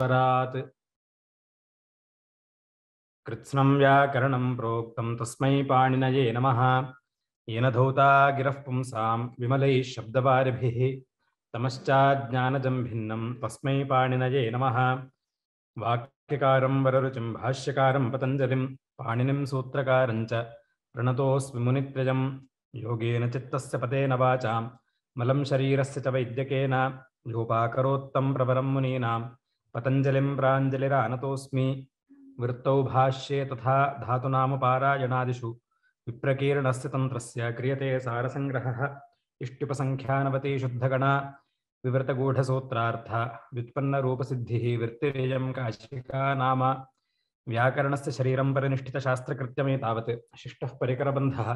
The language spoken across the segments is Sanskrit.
स्वरात् कृत्स्नं व्याकरणं प्रोक्तं तस्मै पाणिनये नमः। येन धौता गिरः पुंसां विमलैः शब्दवारिभिः तमश्चाज्ञानजं भिन्नं तस्मै पाणिनये नमः। वाक्यकारं वररुचिं भाष्यकारं पतञ्जलिं पाणिनिं सूत्रकारं च प्रणतोऽस्मि मुनित्रयं। योगेन चित्तस्य पतेन वाचां मलं शरीरस्य च वैद्यकेन योपाकरोत्तं प्रवरं मुनीनां पतञ्जलिं प्राञ्जलिरानतोऽस्मि। वृत्तौ भाष्ये तथा धातुनामपारायणादिषु विप्रकीर्णस्य तन्त्रस्य क्रियते सारसंग्रहः। इष्टिपसंख्यानवती शुद्धगणा विवृतगूढसूत्रार्थ व्युत्पन्नरूपसिद्धिः वृत्तिरेयं काशिका नाम। व्याकरणस्य शरीरं परिनिष्ठितशास्त्रकृत्यमेतावत् शिष्टः परिकरबन्धः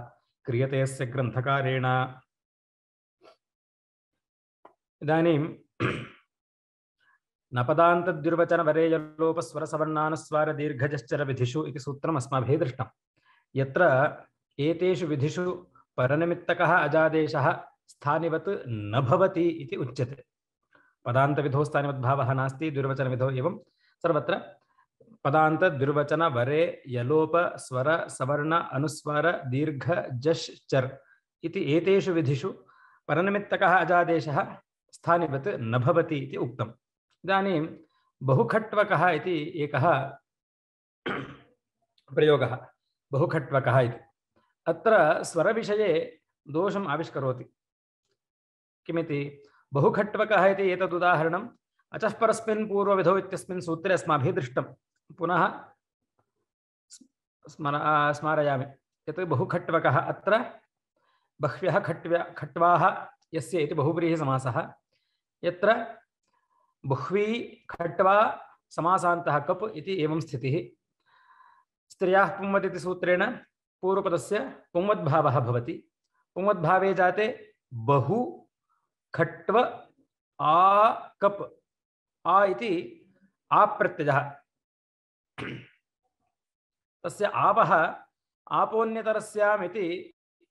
क्रियते अस्य ग्रन्थकारेण। इदानीं नपदान्तद्युर्वचनवरेयलोपस्वरसवर्णानुस्वारदीर्घजश्चरविधिषु इति सूत्रम् अस्माभिः दृष्टम्। यत्र एतेषु विधिषु परनिमित्तकः अजादेशः स्थानिवत् न भवति इति उच्यते। पदान्तविधौ स्थानिवद्भावः नास्ति, द्युर्वचनविधौ एवं सर्वत्र पदान्तद्युर्वचनवरे यलोप स्वर सवर्ण अनुस्वार दीर्घ जश् चर् इति एतेषु विधिषु परनिमित्तकः अजादेशः स्थानिवत् न भवति इति उक्तम्। इदानीं बहुखट्वकः इति एकः प्रयोगः। बहुखट्वकः इति अत्र स्वरविषये दोषम् आविष्करोति। किमिति बहुखट्वकः इति एतदुदाहरणम् अचः परस्मिन् पूर्वविधौ इत्यस्मिन् सूत्रे अस्माभिः दृष्टं। पुनः स्मारयामि यत् बहुखट्वकः अत्र बह्व्यः खट्वाः यस्य इति बहुव्रीहिसमासः। यत्र बुह्वी खट्वा समासान्तः कप् इति एवं स्थितिः। स्त्रियाः पुंवद् इति सूत्रेण पूर्वपदस्य पुंवद्भावः भवति। पुंवद्भावे जाते बहु खट्व आ कप् आ इति आप्रत्ययः। तस्य आपः आपोन्यतरस्याम् इति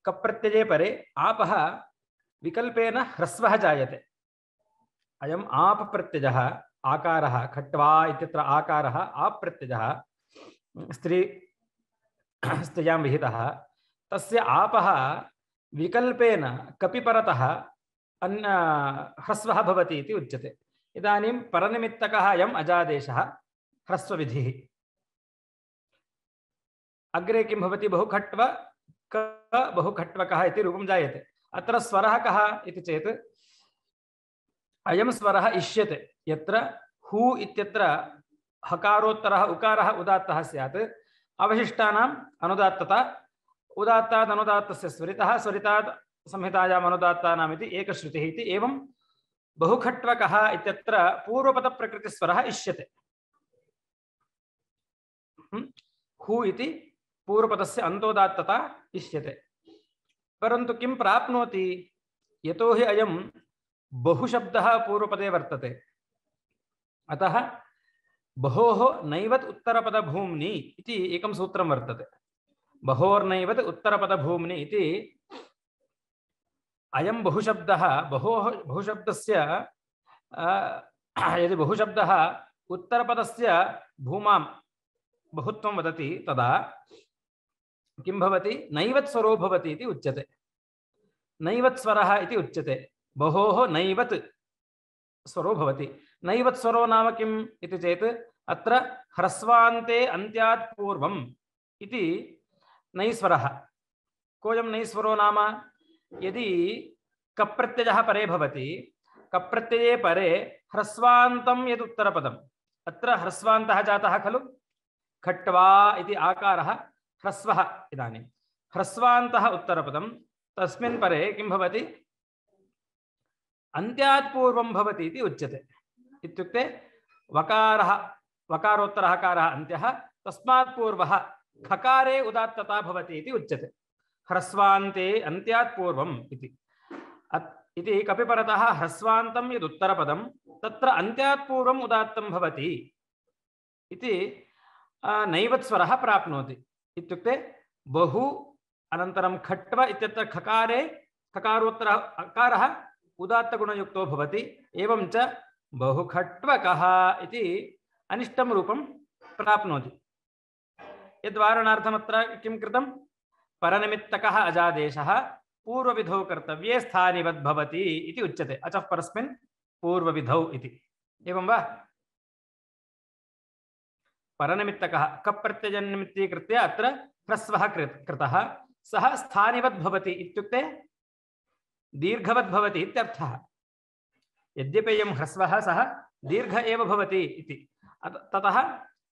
कप्रत्यये परे आपः विकल्पेन ह्रस्वः जायते। अयम् आप प्रत्ययः आकारः खट्वा इत्यत्र आकारः आप प्रत्ययः स्त्रियां विहितः। तस्य आपः विकल्पेन कपि परतः ह्रस्वः भवति इति उच्यते। इदानीं परनिमित्तकः अयम् अजादेशः ह्रस्वविधिः। अग्रे किं भवति बहुखट्व बहुखट्वकः इति रूपं जायते। अत्र स्वरः कः इति चेत् अयं स्वरः इष्यते। यत्र हु इत्यत्र हकारोत्तरः उकारः उदात्तः स्यात् अवशिष्टानाम् अनुदात्तता उदात्तात् अनुदात्तस्य स्वरितः स्वरितात् संहितायाम् अनुदात्तानाम् इति एकश्रुतिः इति एवं बहुखट्वकः इत्यत्र पूर्वपदप्रकृतिस्वरः इष्यते। हु इति पूर्वपदस्य अन्तोदात्तता इष्यते। परन्तु किं प्राप्नोति यतोहि अयं बहुशब्दः पूर्वपदे वर्तते। अतः बहोः नैवत् उत्तरपदभूम्नि इति एकं सूत्रं वर्तते। बहोर्नैवत् उत्तरपदभूम्नि इति अयं बहुशब्दः बहुशब्दस्य यदि बहुशब्दः उत्तरपदस्य भूमां बहुत्वं वदति तदा किं भवति नैवत् स्वरो भवति इति उच्यते। नैवत् स्वरः इति उच्यते। बहोः नैवत् स्वरो भवति। नैवत् स्वरो नाम किम् इति चेत् अत्र ह्रस्वान्ते अन्त्यात् पूर्वम् इति नैस्वरः। कोऽयं नैस्वरो नाम यदि कप्रत्ययः परे भवति कप्रत्यये परे ह्रस्वान्तं यदुत्तरपदम् अत्र ह्रस्वान्तः जातः खलु। खट्वा इति आकारः ह्रस्वः। इदानीं ह्रस्वान्तः उत्तरपदं तस्मिन् परे किं भवति अन्त्यात् पूर्वं भवति इति उच्यते। इत्युक्ते वकारः वकारोत्तरः हकारः अन्त्यः तस्मात् पूर्वः खकारे उदात्तता भवति इति उच्यते। ह्रस्वान्ते अन्त्यात् पूर्वम् इति कपिपरतः ह्रस्वान्तं यदुत्तरपदं तत्र अन्त्यात् पूर्वम् उदात्तं भवति इति नैवत् स्वरः प्राप्नोति। इत्युक्ते बहु अनन्तरं खट्व इत्यत्र खकारे खकारोत्तरः अकारः उदात्तगुणयुक्तो भवति। एवं च बहुखट्वकः इति अनिष्टं रूपं प्राप्नोति। यद्वारणार्थमत्र किं कृतं? परनिमित्तकः अजादेशः पूर्वविधौ कर्तव्ये स्थानिवद् भवति इति उच्यते। अचः परस्मिन् पूर्वविधौ इति। एवं वा? परनिमित्तकः कप् प्रत्ययनिमित्तीकृत्य अत्र ह्रस्वः कृतः, सः स्थानिवद् भवति इत्युक्ते दीर्घवद् भवति इत्यर्थः। यद्यपि अयं ह्रस्वः सः दीर्घ एव भवति इति। ततः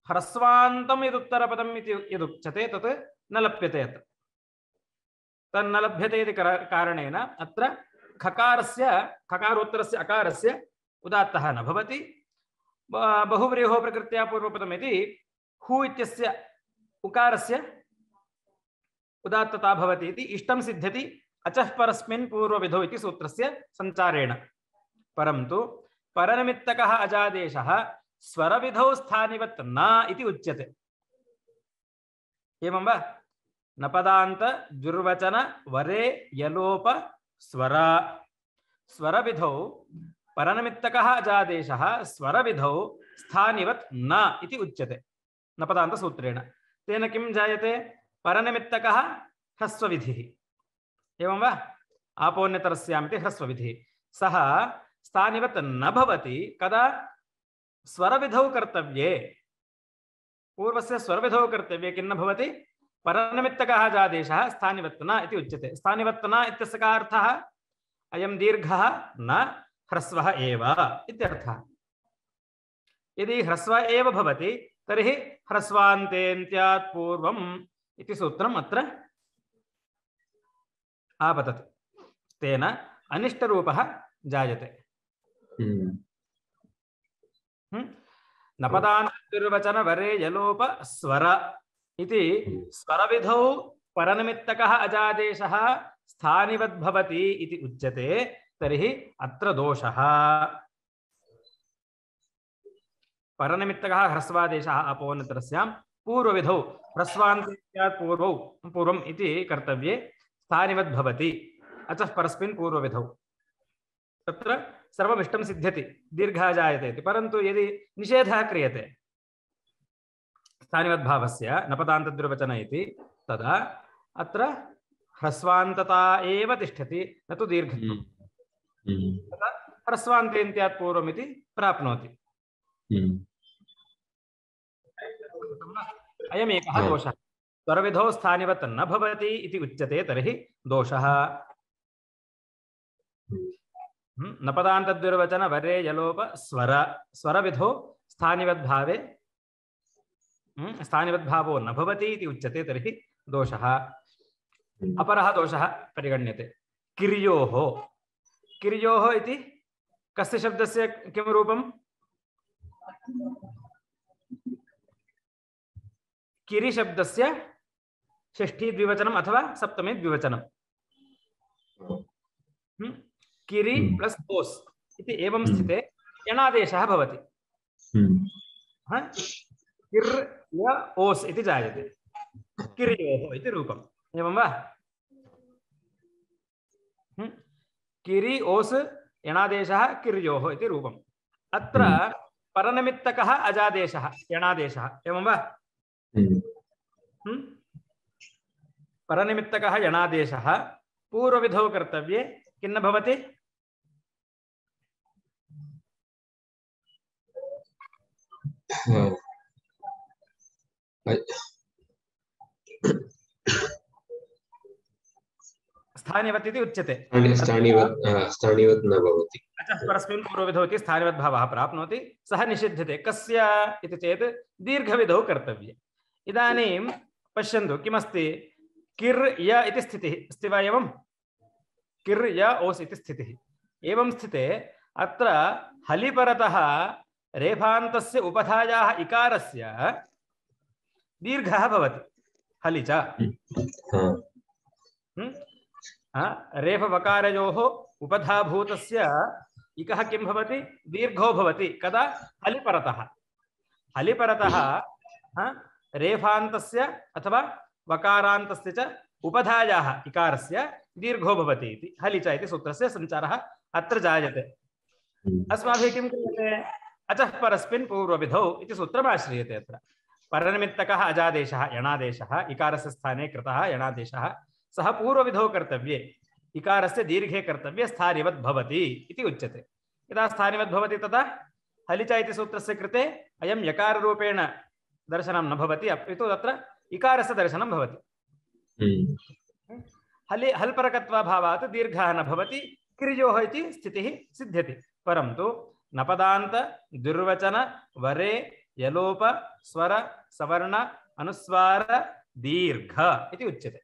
ह्रस्वान्तं यदुत्तरपदम् इति यदुच्यते तत् न लभ्यते अत्र। तन्न लभ्यते इति कारणेन अत्र खकारोत्तरस्य अकारस्य उदात्तः न भवति। बहुव्रीहो प्रकृत्या पूर्वपदम् इति हु इत्यस्य उकारस्य उदात्तता भवति इति इष्टं सिद्ध्यति अचः परस्मिन् पूर्वविधौ इति सूत्रस्य संचारेण। परन्तु परनिमित्तकः अजादेशः स्वरविधौ स्थानिवत् न इति उच्यते। एवं वा? नपदान्त दुर्वचन वरे यलोप स्वर स्वरविधौ परनिमित्तकः अजादेशः स्वरविधौ स्थानिवत् न इति उच्यते नपदान्तसूत्रेण। तेन किं जायते? परनिमित्तकः ह्रस्वविधिः। एवं वा? आपोन्यतरस्यामिति ह्रस्वविधिः। सः स्थानिवत् न भवति कदा? स्वरविधौ कर्तव्ये। पूर्वस्य स्वरविधौ कर्तव्ये किं न भवति? परनिमित्तकः अजादेशः स्थानिवत् न इति उच्यते। स्थानिवत् न इत्यस्य कः अर्थः? अयं दीर्घः न ह्रस्वः एव इत्यर्थः। यदि ह्रस्व एव भवति तर्हि ह्रस्वान्तेन्त्यात् पूर्वम् इति सूत्रम् अत्र आपतति। तेन अनिष्टरूपः जायते। नपदान्तर्वचन वरे यलोप स्वर इति स्वरविधौ परनिमित्तकः अजादेशः स्थानिवद् भवति इति उच्यते। तर्हि अत्र दोषः। परनिमित्तकः ह्रस्वादेशः अपोन्नतरस्यां पूर्वविधौ ह्रस्वान्त्यात् पूर्वम् इति कर्तव्ये स्थानिवद् भवति अचः परस्मिन् पूर्वविधौ। तत्र सर्वमिष्टं सिद्ध्यति, दीर्घः जायते इति। परन्तु यदि निषेधः क्रियते स्थानिवद्भावस्य नपदान्तद्विर्वचन इति, तदा अत्र ह्रस्वान्तता एव तिष्ठति, न तु दीर्घत्वं। तदा ह्रस्वान्तेन्त्यात् पूर्वम् इति प्राप्नोति। अयमेकः दोषः। स्वरविधौ स्थानिवत् न भवति इति उच्यते, तर्हि दोषः। नपदान्तद्विर्वचन वरे यलोप स्वर स्वरविधौ स्थानिवद्भावे स्थानिवद्भावो न भवति इति उच्यते, तर्हि दोषः। अपरः दोषः परिगण्यते। किर्योः। किर्योः इति कस्य शब्दस्य किं रूपं? किरि शब्दस्य षष्ठी द्विवचनम् अथवा सप्तमी द्विवचनम्। किरि प्लस ओस् इति एवं स्थिते यणादेशः भवति। किर् य ओस् इति जायते। किर्योः इति रूपम्। एवं वा? किरि ओस् यणादेशः किर्योः इति रूपम्। अत्र परनिमित्तकः अजादेशः यणादेशः। एवं वा? परनिमित्तकः यणादेशः पूर्वविधौ कर्तव्ये किं न भवति? स्थानिवत् इति उच्यते। स्थानिवत् न भवति। अतः परस्मिन् पूर्वविधौ इति स्थानिवद्भावः प्राप्नोति। सः निषिध्यते। कस्य इति चेत् दीर्घविधौ कर्तव्ये। इदानीं पश्यन्तु किमस्ति? किर् य इति स्थितिः अस्ति वा? एवं किर् य ओस् इति स्थितिः। एवं स्थिते अत्र हलिपरतः रेफान्तस्य उपधायाः इकारस्य दीर्घः भवति। हलि च रेफवकारयोः उपधाभूतस्य इकः किं भवति? दीर्घो भवति। कदा? हलिपरतः। हलिपरतः रेफान्तस्य अथवा वकारान्तस्य च उपधायाः इकारस्य दीर्घो भवति इति हलि च इति सूत्रस्य संचारः अत्र जायते। अस्माभिः किं क्रियते? अचः परस्मिन् पूर्वविधौ इति सूत्रमाश्रियते। अत्र परनिमित्तकः अजादेशः यणादेशः इकारस्य स्थाने कृतः यणादेशः सः पूर्वविधौ कर्तव्ये इकारस्य दीर्घे कर्तव्ये स्थानिवत् भवति इति उच्यते। यदा स्थानिवत् भवति तदा हलिच इति सूत्रस्य कृते अयं यकाररूपेण दर्शनं न भवति, अपितु तत्र इकारस्य दर्शनं भवति। हल्परकत्वाभावात् दीर्घः न भवति, क्रियोः इति स्थितिः सिद्ध्यति। परन्तु नपदान्त दुर्वचन वरे यलोप स्वर सवर्ण अनुस्वार दीर्घ इति उच्यते।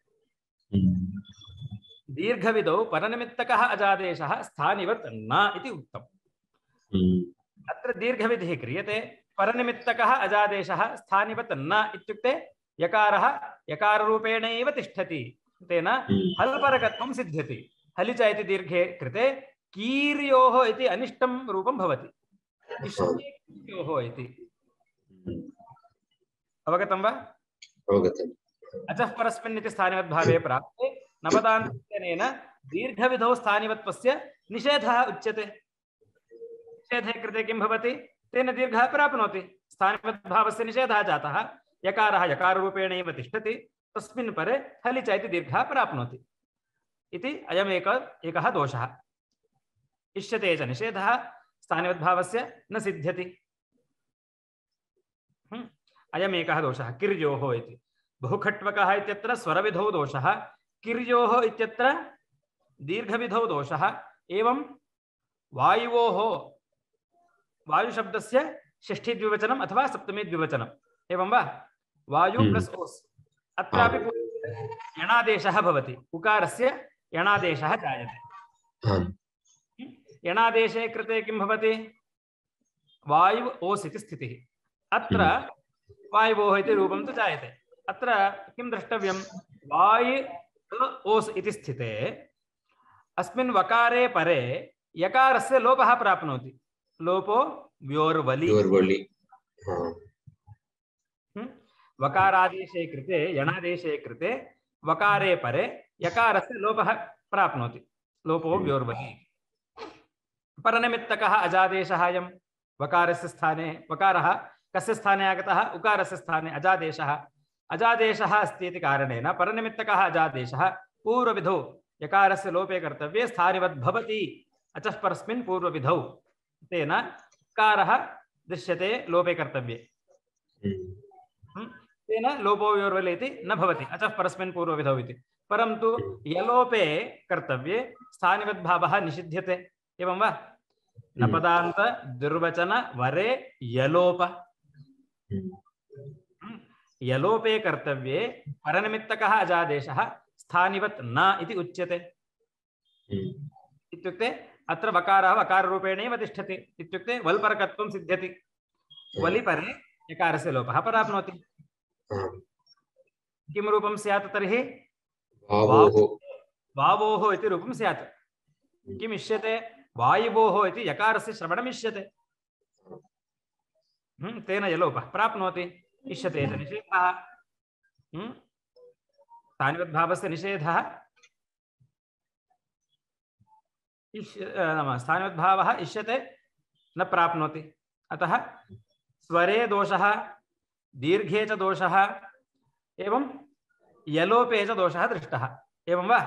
दीर्घविधौ परनिमित्तकः अजादेशः स्थानिवत् न इति उक्तम्। अत्र दीर्घविधिः क्रियते, परनिमित्तकः अजादेशः स्थानिवत् न इत्युक्ते यकारः यकाररूपेणैव तिष्ठति, तेन हल्परकत्वं सिद्ध्यति। हलिच इति दीर्घे कृते कीर्योः इति अनिष्टं रूपं भवति, कीर्योः इति। अवगतं वा? अवगतम्। अचः परस्मिन् इति स्थानिवद्भावे प्राप्ते नपदान्तनेन दीर्घविधौ स्थानिवत्वस्य निषेधः उच्यते। निषेधे कृते किं भवति? तेन दीर्घः प्राप्नोति। स्थानिवद्भावस्य निषेधः जातः, यकारः यकाररूपेणैव तिष्ठति, तस्मिन् परे हलिच इति दीर्घः प्राप्नोति इति अयम् एकः दोषः। इष्यते च निषेधः स्थानिवद्भावस्य न सिद्ध्यति। अयमेकः दोषः किर्योः इति। बहुखट्वकः इत्यत्र स्वरविधौ दोषः, किर्योः इत्यत्र दीर्घविधौ दोषः। एवं वायुवोः वायुशब्दस्य षष्ठी द्विवचनम् अथवा सप्तमी द्विवचनम्, एवं वा? वायु प्लस् ओस्, अत्रापि यणादेशः भवति, उकारस्य यणादेशः जायते। यणादेशे कृते किं भवति? वायु ओस् इति स्थितिः। अत्र वायुवोः इति रूपं तु जायते। अत्र किं द्रष्टव्यं? वायु ओस् इति स्थिते अस्मिन् वकारे परे यकारस्य लोपः प्राप्नोति। लोपो व्योर्वलि। वकारादेशे कृते यणादेशे कृते वकारे परे यकारस्य लोपः प्राप्नोति। लोपो व्योर्वलि। परनिमित्तकः अजादेशः अयं वकारस्य स्थाने, वकारः कस्य स्थाने आगतः? उकारस्य स्थाने अजादेशः। अजादेशः अस्ति इति कारणेन परनिमित्तकः अजादेशः पूर्वविधौ यकारस्य लोपे कर्तव्ये स्थानिवद् भवति। अचः परस्मिन् पूर्वविधौ तेन कारः दृश्यते लोपे कर्तव्ये, तेन लोपो व्योर्वलि इति न भवति अचः परस्मिन् पूर्वविधौ इति। परन्तु यलोपे कर्तव्ये स्थानिवद्भावः निषिध्यते, एवं वा? नपदान्त दुर्वचन वरे यलोप, यलोपे कर्तव्ये परनिमित्तकः अजादेशः स्थानिवत् न इति उच्यते। इत्युक्ते अत्र वकारः वकाररूपेणैव तिष्ठति, इत्युक्ते वल्परकत्वं सिद्ध्यति। वलिपरे यकारस्य लोपः प्राप्नोति। किं रूपं स्यात् तर्हि? वावोः इति रूपं स्यात्। किम् इष्यते? वायुवोः इति यकारस्य श्रवणम् इष्यते, तेन यलोपः प्राप्नोति। इष्यते च निषेधः, स्थानिवद्भावस्य निषेधः। स्थानिवद्भावः इष्यते न प्राप्नोति। अतः स्वरे दोषः, दीर्घे च दोषः, एवं यलोपे च दोषः दृष्टः, एवं वा?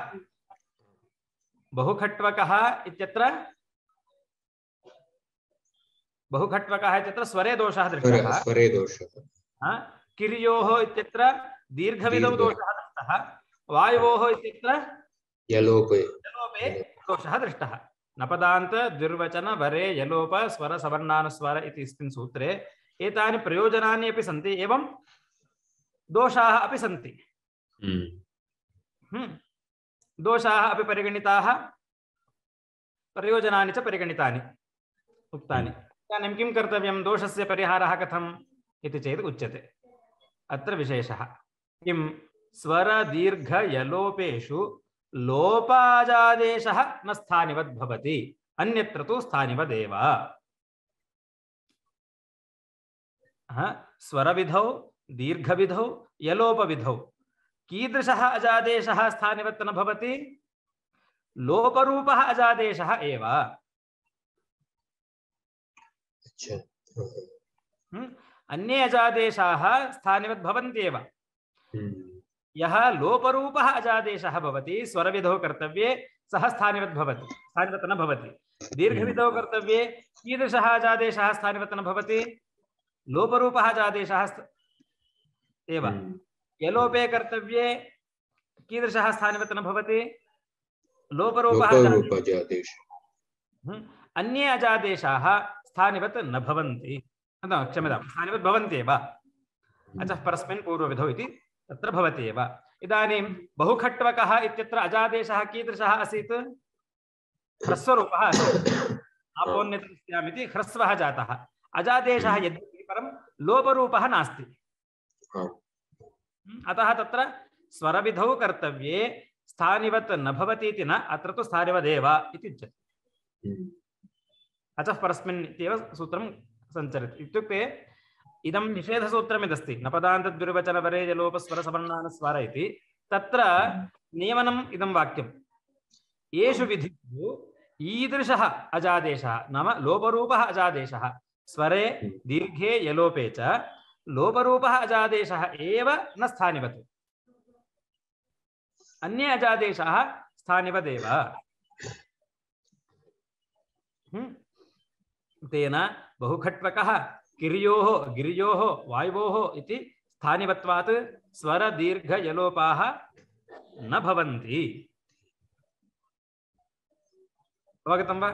बहुखट्वकः इत्यत्र स्वरे दोषः दृष्टः। स्वरे दोषः। किर्योः इत्यत्र दीर्घविधौ दोषः दृष्टः। वायुवोः इत्यत्र यलोपे दोषः दृष्टः। नपदान्त दुर्वचन वरे यलोप स्वर सवर्णानुस्वार इति अस्मिन् सूत्रे एतानि प्रयोजनानि अपि सन्ति, एवं दोषाः अपि सन्ति। दोषाः अपि परिगणिताः, प्रयोजनानि च परिगणितानि उक्तानि। इदानीं किं कर्तव्यं? दोषस्य परिहारः कथम् इति चेत् उच्यते। अत्र विशेषः किं? स्वर दीर्घ यलोपेषु लोपाजादेशः न स्थानिवद् भवति, अन्यत्र तु स्थानिवदेव। स्वरविधौ दीर्घविधौ यलोपविधौ कीदृशः अजादेशः स्थानिवत् न भवति? लोपरूपः अजादेशः एव। अन्ये अजादेशाः स्थानिवत् भवन्त्येव। यः लोपरूपः अजादेशः भवति स्वरविधौ कर्तव्ये सः स्थानिवत् भवति, स्थानिवत् न भवति। दीर्घविधौ कर्तव्ये कीदृशः अजादेशः स्थानिवत् न भवति? लोपरूपः अजादेशः एव। यलोपे कर्तव्ये कीदृशः स्थानिवत् न भवति? लोपरूपः अजादेशः। अन्ये अजादेशाः स्थानिवत् न भवन्ति, क्षम्यतां, स्थानिवत् भवन्त्येव। अतः परस्मिन् पूर्वविधौ इति तत्र भवति एव। इदानीं बहुखट्वकः इत्यत्र अजादेशः कीदृशः आसीत्? ह्रस्वरूपः आसीत्। आपोन्यतस्यामिति ह्रस्वः जातः। अजादेशः यद्यपि परं लोपरूपः नास्ति। अतः तत्र स्वरविधौ कर्तव्ये स्थानिवत् न भवति इति न, अत्र तु स्थानिवदेव इति उच्यते। अतः परस्मिन् इत्येव सूत्रं सञ्चरति। इत्युक्ते इदं निषेधसूत्रमिदस्ति, नपदान्तद्विर्वचनवरेजलोपस्वरसवर्णानुस्वार इति। तत्र नियमनम् इदं वाक्यं, येषु विधिषु ईदृशः अजादेशः नाम लोपरूपः अजादेशः स्वरे दीर्घे यलोपे च लोपरूपः अजादेशः एव न स्थानिवत्, अन्ये अजादेशः स्थानिवदेव। तेन बहुखट्वकः किर्योः गिर्योः वायुवोः इति स्थानिवत्वात् स्वर दीर्घ यलोपाः न भवन्ति। अवगतं वा?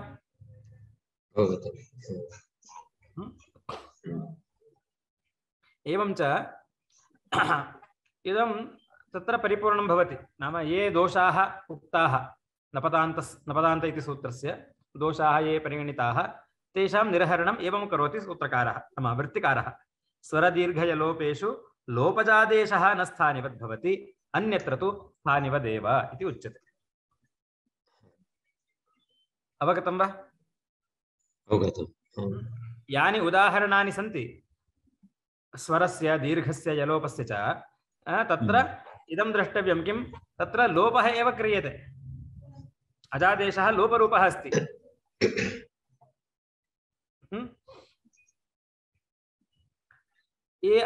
एवं च इदं तत्र परिपूर्णं भवति। नाम ये दोषाः उक्ताः नपदान्त इति सूत्रस्य दोषाः ये परिगणिताः तेषां निरहरणम् एवं करोति सूत्रकारः नाम वृत्तिकारः। स्वरदीर्घयलोपेषु लोपजादेशः न स्थानिवद् भवति, अन्यत्र तु स्थानिवदेव इति उच्यते। अवगतं वा? यानि उदाहरणानि सन्ति स्वरस्य दीर्घस्य यलोपस्य च तत्र इदं द्रष्टव्यं किं, तत्र लोपः एव क्रियते, अजादेशः लोपरूपः अस्ति। ये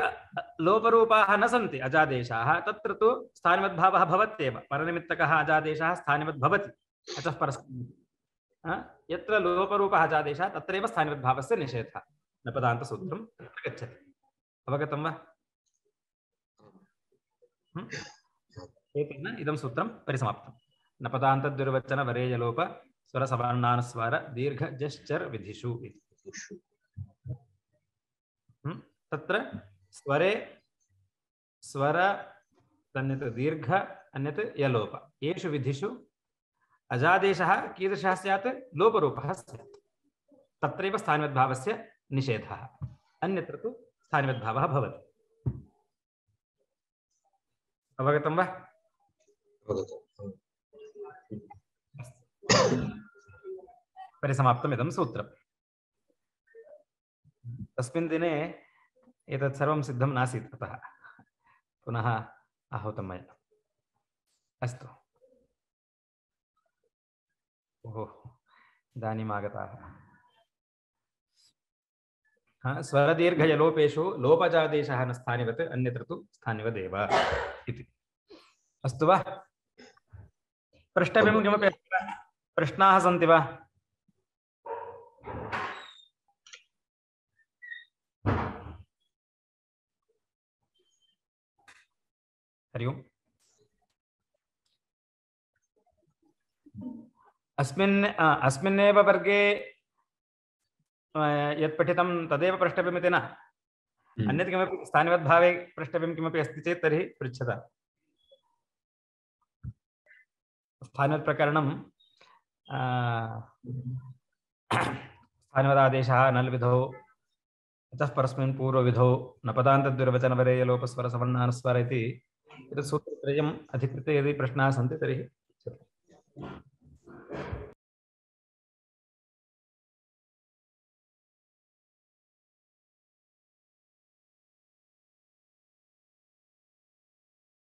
लोपरूपाः न सन्ति अजादेशाः तत्र तु स्थानिवद्भावः भवत्येव। परनिमित्तकः अजादेशः स्थानिवद् भवति। अतः परस्मिन् यत्र लोपरूपः अजादेशः तत्रैव स्थानिवद्भावस्य निषेधः नपदान्तसूत्रं गच्छति। अवगतं वा? एतेन इदं सूत्रं परिसमाप्तं। नपदान्तद्विर्वचनवरेयलोप स्वरसवर्णानुस्वार दीर्घ जश्चर विधिषु इति। तत्र स्वरे स्वर अन्यत् दीर्घ अन्यत् यलोप, येषु विधिषु अजादेशः कीदृशः स्यात्? लोपरूपः स्यात्। तत्रैव स्थानिवद्भावस्य निषेधः, अन्यत्र तु स्थानिवद्भावः भवति। अवगतं वा? परिसमाप्तम् इदं सूत्रम्। तस्मिन् दिने एतत् सर्वं सिद्धं नासीत्, अतः पुनः आहूतं मया। अस्तु, ओहो इदानीम् आगताः। स्वरदीर्घयलोपेषु लोपजादेशः न स्थानिवत्, अन्यत्र तु स्थानिवदेव इति। अस्तु वा? प्रष्टव्यं किमपि अस्ति वा? प्रश्नाः सन्ति वा? हरि ओम्। अस्मिन्नेव वर्गे यत् पठितं तदेव प्रष्टव्यमिति न, अन्यत् किमपि स्थानिवद्भावे प्रष्टव्यं किमपि अस्ति चेत् तर्हि पृच्छता। स्थानिवत्प्रकरणं स्थानिवदादेशः नल्विधौ अतः परस्मिन् पूर्वविधौ नपदान्तद्विर्वचनवरेयलोपस्वरसवर्णानुस्वार इति एतत् सूत्रत्रयम् अधिकृत्य यदि प्रश्नाः सन्ति तर्हि